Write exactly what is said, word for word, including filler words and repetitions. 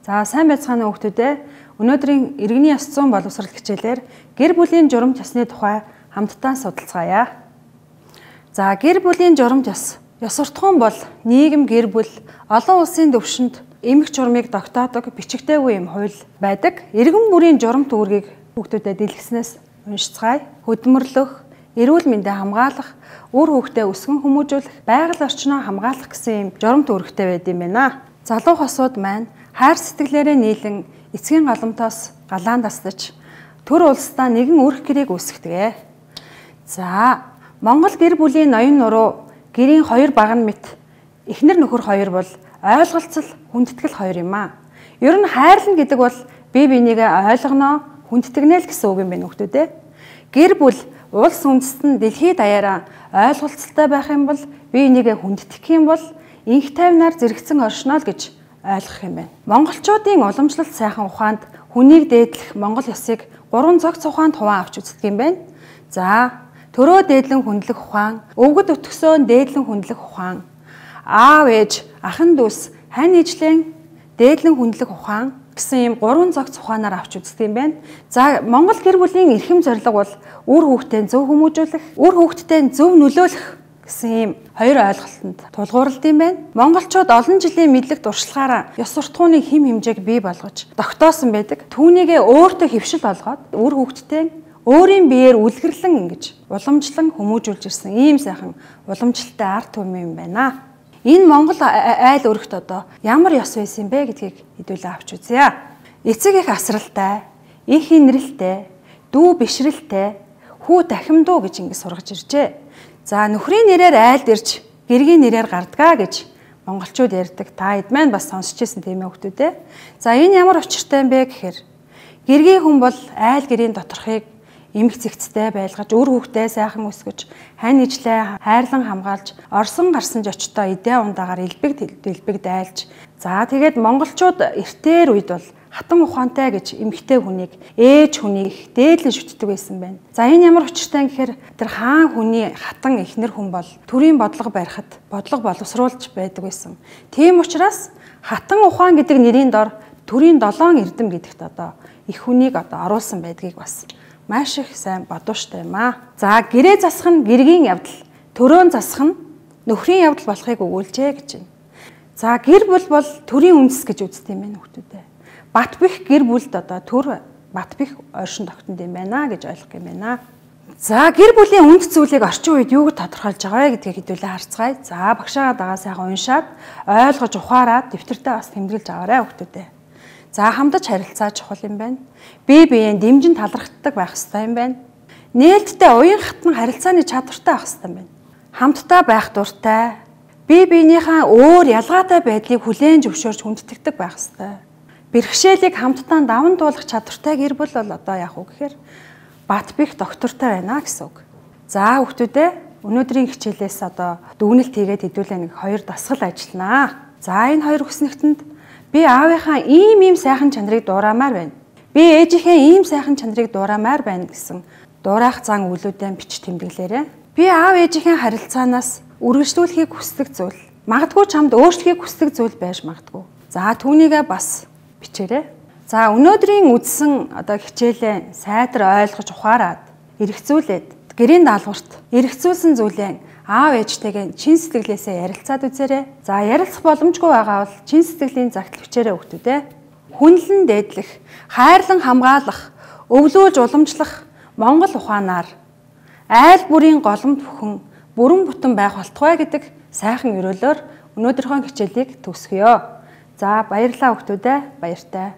За сайн байцгаана уу хүүхдүүдээ. Өнөөдрийн иргэний ёс зүйн боловсрол хичээлээр гэр бүлийн журамт ёсны тухай хамтдаа судалцгаая. За гэр бүлийн журамт ёс. Ёс суртахуун бол нийгэм гэр бүл олон улсын түвшинд эмх журмыг тогтоодог бичигдээгүй юм хууль байдаг. Иргэн бүрийн журамт үүргийг хүүхдүүдэд дэлгэснээс уншицгаая. Хөдөлмөрлөх, эрүүл мэндийг хамгаалах, үр хүүхдээ өсгөн хүмүүжүүлэх, байгаль орчноо хамгаалах гэсэн юм журамт үүрэгтэй байд юм байна. Залуу хосууд маань хайр сэтгэлээрээ нийлэн эцгийн галамтаас галаан тасдаж төр улсдаа нэгэн өрх гэрээг үүсгэдэг. За Монгол гэр бүлийн ноён нуруу гэрийн хоёр баган мэт эхнэр нөхөр хоёр бол ойлголцол хүндэтгэл хоёр юм аа. Ер нь хайрлна гэдэг бол бие бинийгээ ойлгоно, хүндэтгэнэ л гэсэн үг юм байна хүүхдүүдээ. Гэр бүл улс үндэстэн дэлхийд даяараа ойлголцолтой байх юм бол бие бинийгээ хүндэтгэх юм бол инх тайвнаар зэрэгцэн оршино л гэж ойлгох юм байна. Монголчуудын уламжлалт сайхан ухаанд хүнийг дээдлэх Монгол ёсыг гурван цогц ухаанд хуваан авч үздэг юм байна. За төрөө дээдлэн хүндлэх ухаан, өвгөд өтгсөөн дээдлэн хүндлэх ухаан, аав ээж, ахын дүүс, хань ижлэн дээдлэн хүндлэх ухаан гэсэн ийм гурван цогц ухаанаар авч үздэг юм байна. За Монгол гэр бүлийн эрхэм зорилго бол үр хүүхдээ зөв хүмүүжүүлэх, үр хүүхдтэй зөв нөлөөлөх гэсэн ийм хоёр ойлголтод тулгуурлалт юм байна. Монголчууд олон жилийн мэдлэг туршлагаараа ёс суртахууны хэм хэмжээг бий болгож тогтоосон байдаг. Түүнийгээ өөртөө хөвшил олгоод үр хүүхдтэй өөрийн биеэр үлгэрлэн ингэж уламжлан хүмүүжүүлж ирсэн ийм сайхан уламжлалтай арт түмэн юм байна. Энэ Монгол айл өргөт одоо ямар ёс байсан бэ гэдгийг хэдүүлээ авч үзье. Эцэг их асралтай, их инрэлтэй, дүү бишрэлтэй, хүү дахимдуу гэж ингэ сургаж иржээ. За нөхрийн нэрээр айлд ирж гэргийн нэрээр гардгаа гэж монголчууд ярьдаг. Та хэд маань бас сонсч ирсэн тийм ээ хүүхдүүдээ. За энэ ямар учиртай юм бэ гэхээр гэргийн хүн бол айл гэрийн доторхыг эмх зэгцтэй байлгаж, үр хүүхдээ сайхан өсгөж, хань ижлээ хайрлан хамгаалж, орсон гарсан ч очтоо идэ ундаагаар элбэг дэлбэг дайлж. За тэгээд монголчууд эртээр үед бол хатан ухаантай гэж эмхтэй хүнийг, ээж хүнийг дээдлэн шүтдэг байсан байна. За энэ ямар учиртай гэхээр тэр хаан хүний хатан эхнэр хүн бол төрийн бодлого барихад бодлого боловсруулж байдаг байсан. Тийм учраас хатан ухаан гэдэг нэрийн дор төрийн долоон эрдэм гэдэгт одоо их хүнийг одоо оруулсан байдгийг бас маш их сайн бодууштай юм аа. За гэрээ засах нь гэргийн явдал, төрөөн засах нь нөхрийн явдал болохыг өгүүлжээ гэж байна. За гэр бүл бол төрийн үндэс гэж үздэг юм байна хүүхдүүдээ. Бат бэх гэр бүлд одоо төр бат бэх ойшин тогтонд юм байна гэж ойлгох юм байна. За гэр бүлийн үнд зүйлийг орчин үед юу гэж тодорхойлж байгаа вэ гэдгийг хэдүүлээ харцгаая. За багшаагаа дагаа сайхан уншаад ойлгож ухаараад дэвтэртээ бас тэмдэглэж аваарай хүүхдүүдээ. За хамтдаж харилцаа чухал юм байна. Бие биеийн дэмжин талархдаг байх хэрэгтэй юм байна. Нээлттэй уян хатан харилцааны чадвартай байх хэрэгтэй юм байна. Хамтдаа байх дуртай, бие биенийхээ өөр ялгаатай байдлыг хүлээн зөвшөөрч хүндэтгдэг байх хэрэгтэй. Бэрхшээлийг хамтдаа даван туулах чадвартай гэр бүл бол одоо яах вэ гэхээр бат бэх доктортой байна гэсэн үг. За хүүхдүүдээ өнөөдрийн хичээлээс одоо дүгнэлт хийгээд хэдүүлээ нэг хоёр дасгал ажилланаа. За энэ хоёр хүснэгтэнд би аавынхаа ийм ийм сайхан чанарыг дуурамаар байна. Би ээжийнхээ ийм сайхан чанарыг дуурамаар байна гэсэн дуураах зан үйлүүдэн бич тэмдэглээрэй. Би аав ээжийнхээ харилцаанаас үргэлжлүүлэхийг хүсдэг зүйл, магадгүй чамд өөрчлөхийг хүсдэг зүйл байж магадгүй. За түүнийгээ бас бичээрэй. За өнөөдрийн үзсэн одоо хичээлээ сайтар ойлгож ухаарад эргцүүлээд гэрийн даалгаварт эргцүүлсэн зүйлээ аав ээжтэйгээ чин сэтгэлээсээ ярилцаад үзээрэй. За ярилцах боломжгүй байгаа бол чин сэтгэлийн загтал бичээрэй хүүхдүүдээ. Хүнлэн дээдлэх, хайрлан хамгаалах, өвлүүлж уламжлах Монгол ухаанаар айл бүрийн голомт бүхэн бүрэн бүтэн байх болтугай гэдэг сайхан өрөөлөөр өнөөдрийнхөө хичээлийг төгсгөё. За баярлалаа хүүхдүүдээ. Баяртай.